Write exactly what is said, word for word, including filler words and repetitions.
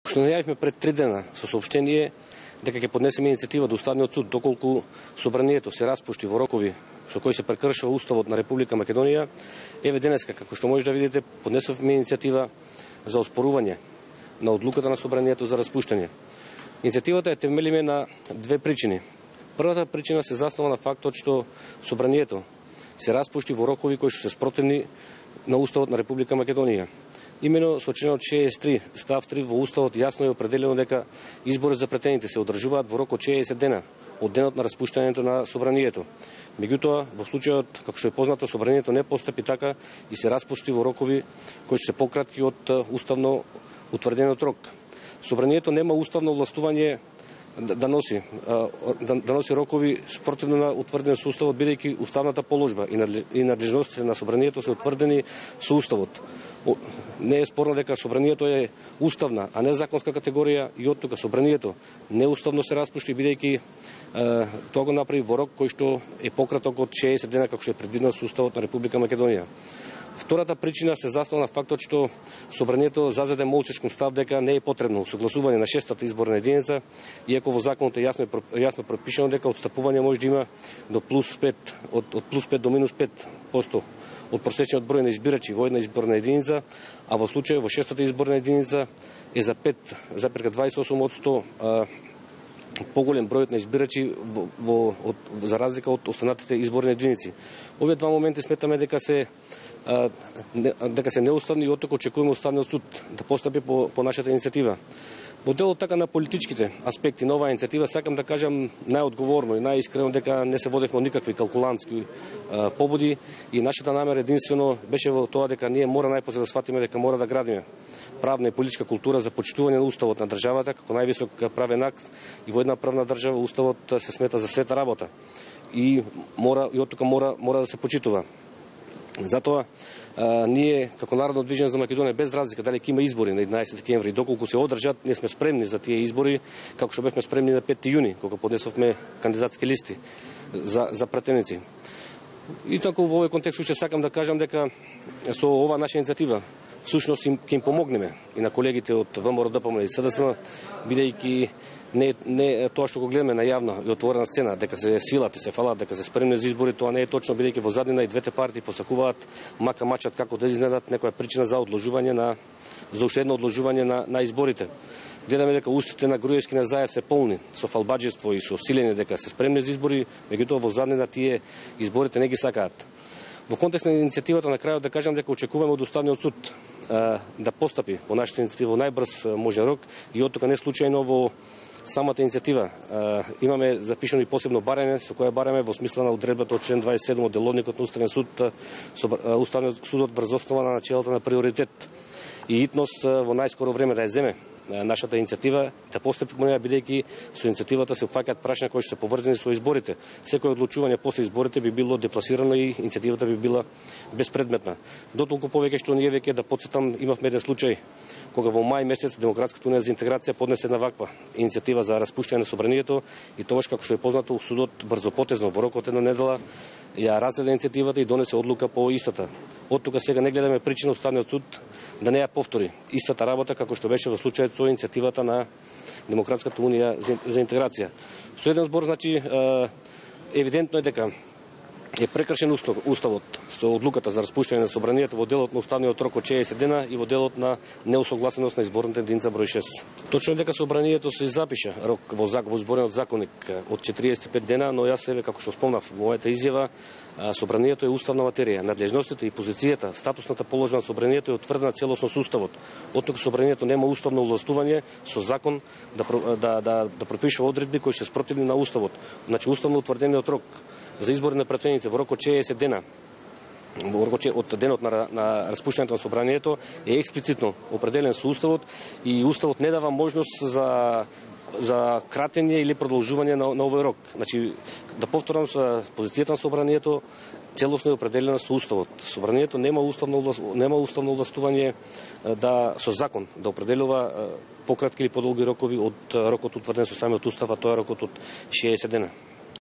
Што најавивме пред три дена со соопштение дека ќе поднесеме иницијатива до Уставниот суд доколку собранието се распушти во рокови со кои се прекршува Уставот на Република Македонија. Еве денеска, како што може да видите, поднесовме иницијатива за оспорување на одлуката на собранието за распуштање. Иницијативата е темелиме на две причини. Првата причина се заснова на фактот што собранието се распушти во рокови кои што се спротивни на Уставот на Република Македонија. Имено со членот шеесет и три став три во Уставот јасно е определено дека изборот за претените се одржуваат во рок од шеесет дена од денот на распуштањето на собранието. Меѓутоа, во случајот, како што е познато, собранието не постапи така и се распушти во рокови кои се пократки од уставно утврдениот рок. Собранието нема уставно властување да, да носи да, да носи рокови спротивно на утврден со Уставот, бидејќи уставната положба и надлежностите на собранието се утврдени со Уставот. Не е спорно дека собранието е уставна, а не законска категорија и оттука собранието неуставно се распушти, бидејќи тоа го направи во рок кој што е пократок од шеесет дена, како што е предвидено со Уставот на Република Македонија. Втората причина се заснова на фактот што собранието зазеде молчешком став дека не е потребно согласување на шестата изборна единица, иако во законот е јасно јасно пропишано дека отстапување може да има до плюс пет од, од плюс пет до минус пет проценти од просечниот број на избирачи во една изборна единица, а во случај во шестата изборна единица е за пет запирка дваесет и осум проценти поголем бројот на избирачи во, во, од, за разлика од останатите изборни единици. Овие два моменти сметаме дека се а, не, дека се неуставни и оттука очекуваме Уставниот суд да постапи по, по нашата иницијатива. Во делот така на политичките аспекти на оваа иницијатива сакам да кажам најодговорно и најискрено дека не се водевме никакви калкулантски а, побуди и нашата намера единствено беше во тоа дека ние мора најпосле да сватиме дека мора да градиме правна и политичка култура за почитување на Уставот на државата како највисок правен акт и во една правна држава Уставот се смета за света работа и мора и оттука мора мора да се почитува. Затоа а, ние како Народно движење за Македонија без разлика дали ќе има избори на еднаесети декември, доколку се одржат, ние сме спремни за тие избори, како што бевме спремни на петти јуни кога поднесовме кандидатски листи за за претеници. И така во овој контекст уште сакам да кажам дека со ова наша иницијатива всушност им ќе им помогнеме и на колегите од ВМРО, ДПМН и СДСМ, бидејќи не не тоа што го гледаме на јавна и отворена сцена дека се силат и се фалат дека се спремни за избори, тоа не е точно, бидејќи во заднина и двете партии посакуваат мака мачат како да изнедат некоја причина за одложување на за уште едно одложување на на изборите. Гледаме дека устите на Груевски на Заев се полни со фалбаџество и со силење дека се спремни за избори, меѓутоа во заднина тие изборите не ги сакаат. Во контекст на иницијативата на крајот да кажам дека очекуваме од Уставниот суд а, да постапи по нашата иницијатива во најбрз можен рок и оттука не случајно во самата иницијатива а, имаме запишано и посебно барање со кое бараме во смисла на одредбата од член дваесет и седум од Деловникот на Уставен суд со Уставниот судот врз основа на начелата на приоритет и итнос во најскоро време да ја земе нашата иницијатива, да постапи по неја, бидејќи со иницијативата се опфаќаат прашања кои што се поврзани со изборите. Секој одлучување после изборите би било депласирано и иницијативата би била безпредметна. Дотолку повеќе што ние веќе да потсетам имавме еден случај кога во мај месец Демократската унија за интеграција поднесе една ваква иницијатива за распуштање на собранието и тогаш како што е познато судот брзопотезно во рок од една недела ја разгледа иницијативата и донесе одлука по истата. Оттука сега не гледаме причина Уставниот суд да не ја повтори истата работа како што беше во случајот со иницијативата на Демократската унија за интеграција. Со еден збор, значи, евидентно е дека е прекршен Уставот со одлуката за распуштање на собранието во делот на Уставниот рок од шеесет дена и во делот на неусогласеност на изборната единица број шест. Точно е дека собранието се запиша рок во закон, во зборниот законник од четириесет и пет дена, но јас себе како што спомнав во мојата изјава, собранието е уставна материја. Надлежностите и позицијата, статусната положба на собранието е утврдена целосно со Уставот. Оттука собранието нема уставно овластување со закон да да да, да пропишува одредби кои се спротивни на Уставот. Значи уставно утврдениот рок за избори на претеници во рок од шеесет дена во рок од денот на, на распуштањето на собранието е експлицитно определен со Уставот и Уставот не дава можност за за кратење или продолжување на, на овој рок. Значи, да повторам, со позицијата на собранието целосно е определена со Уставот. Собранието нема уставно нема уставно властување да со закон да определува пократки или подолги рокови од рокот утврден со самиот Устав, а тоа е рокот од шеесет дена.